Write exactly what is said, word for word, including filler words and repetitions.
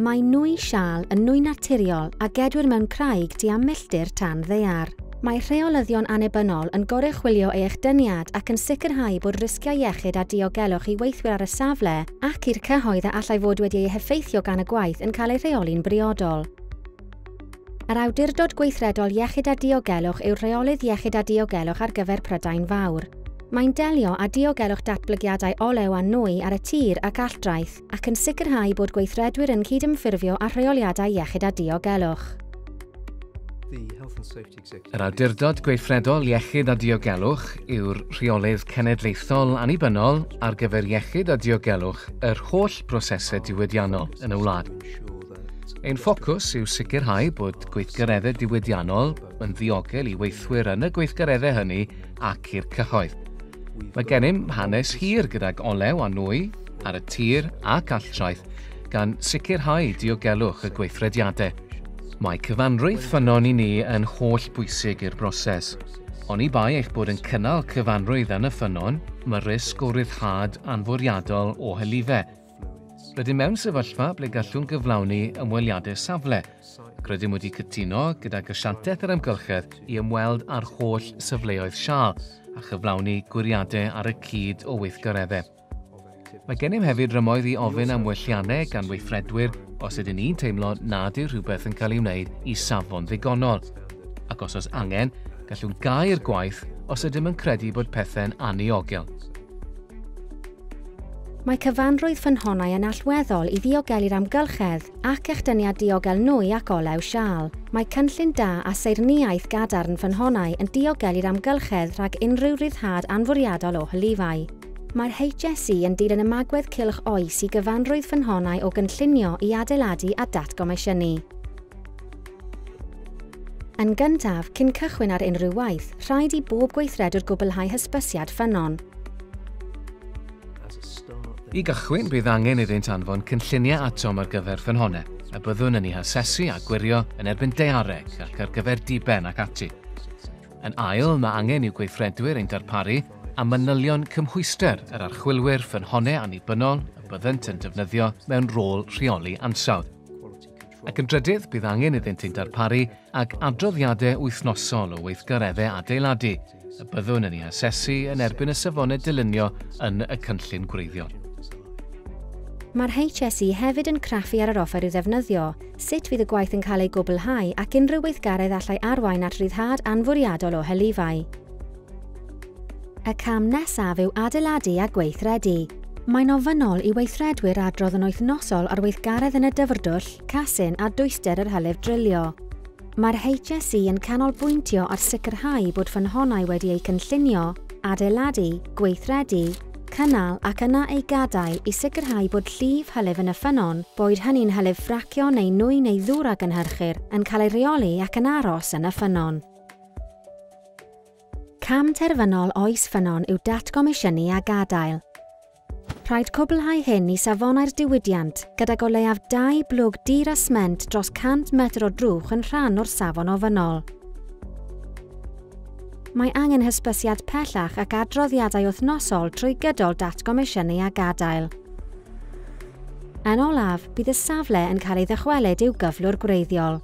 Mae nwy siâl yn nwy naturiol a gedwir mewn craig tua milltir tan ddaear. Mae rheolyddion annibynnol yn goruchwylio ei echdyniad ac yn sicrhau bod risgiau iechyd a diogelwch i weithwyr ar y safle ac i'r cyhoedd a allai fod wedi eu heffeithio gan y gwaith yn cael eu rheoli'n briodol. Yr Awdurdod Gweithredol Iechyd a Diogelwch yw'r rheolydd iechyd a diogelwch ar gyfer Prydain Fawr. Mae'n delio â diogelwch datblygiadau olew a nwy ar y tir ac alldraeth ac yn sicrhau bod gweithredwyr yn cydymffurfio â rheoliadau iechyd a diogelwch. Yr Awdurdod Gweithredol Iechyd a Diogelwch yw'r rheolydd cenedlaethol annibynnol ar gyfer iechyd a diogelwch yr holl brosesau diwydiannol yn y wlad. Ein ffocws yw sicrhau bod gweithgareddau diwydiannol yn ddiogel i weithwyr yn y gweithgareddau hynny ac i'r cyhoedd. Mae gennym hanes hir gydag olew a nwy ar y tir ac alltraeth gan sicrhau diogelwch y gweithrediadau. Mae cyfanrwydd ffynnon i ni yn holl bwysig i'r broses. Oni bai eich bod yn cynnal cyfanrwydd yn y ffynnon, mae risg o ryddhad anfwriadol o hylifau. Rydym mewn sefyllfa ble gallwn gyflawni ymweliadau safle, ac rydym wedi cytuno gydag Asiantaeth yr Amgylchedd i ymweld â'r holl safleoedd siâl a chyflawni gwiriadau ar y cyd o weithgareddau. Mae gennym hefyd rymoedd i ofyn am welliannau gan weithredwyr os ydyn ni'n teimlo nad yw rhywbeth yn cael ei wneud i safon ddigonol. Ac os oes angen, gallwn gau'r gwaith os ydym yn credu bod pethau'n anniogel. Mae cyfanrwydd ffynhonnau yn allweddol i ddiogelu'r amgylchedd ac echdyniad diogel nwy ac olew siâl. Mae cynllun da a saernïaeth gadarn ffynhonnau yn diogelu'r amgylchedd rhag unrhyw ryddhad anfwriadol o hylifau. Mae'r H S E yn dilyn ymagwedd cylch oes i gyfanrwydd ffynhonnau o gynllunio i adeiladu a datgomisiynu. Yn gyntaf, cyn cychwyn ar unrhyw waith, rhaid i bob gweithredwr gwblhau hysbysiad ffynnon. I gychwyn, bydd angen iddynt anfon cynlluniau atom ar gyfer ffynhonnau, a byddwn yn eu hasesu a gwirio yn erbyn daeareg ac ar gyfer diben ac ati. Yn ail, mae angen i'w gweithredwyr ein darparu a manylion cymhwyster yr archwilwyr ffynhonnau annibynnol y byddent yn defnyddio mewn rôl rheoli ansawdd. Ac yn drydydd, bydd angen iddynt ein darparu ag adroddiadau wythnosol o weithgareddau adeiladu, y byddwn yn eu hasesu yn erbyn y safonau dylunio yn y cynllun gwreiddiol. Mae'r H S E hefyd yn craffu ar yr offer i'w ddefnyddio, sut fydd y gwaith yn cael ei gwblhau ac unrhyw weithgaredd allai arwain at ryddhad anfwriadol o hylifau. Y cam nesaf yw adeiladu a gweithredu. Mae'n ofynnol i weithredwyr adrodd yn wythnosol ar weithgaredd yn y dyfrdwll, casyn a dwyster yr hylif drilio. Mae'r H S E yn canolbwyntio ar sicrhau bod ffynhonnau wedi eu cynllunio, adeiladu, gweithredu, cynnal ac yna ei gadael i sicrhau bod llif hylif yn y ffynnon, boed hynny'n hylif ffracio neu nwy neu ddŵr a gynhyrchir, yn cael ei reoli ac yn aros yn y ffynnon. Cam terfynol oes ffynnon yw datgomisiynu a gadael. Rhaid cwblhau hyn i safonau'r diwydiant, gydag o leiaf dau blwg dir a sment dros cant metr o drwch yn rhan o'r safon ofynnol. Mae angen hysbysiad pellach ac adroddiadau wythnosol trwy gydol datgomisiynu a gadael. Yn olaf, bydd y safle yn cael ei ddychwelyd i'w gyflwr gwreiddiol.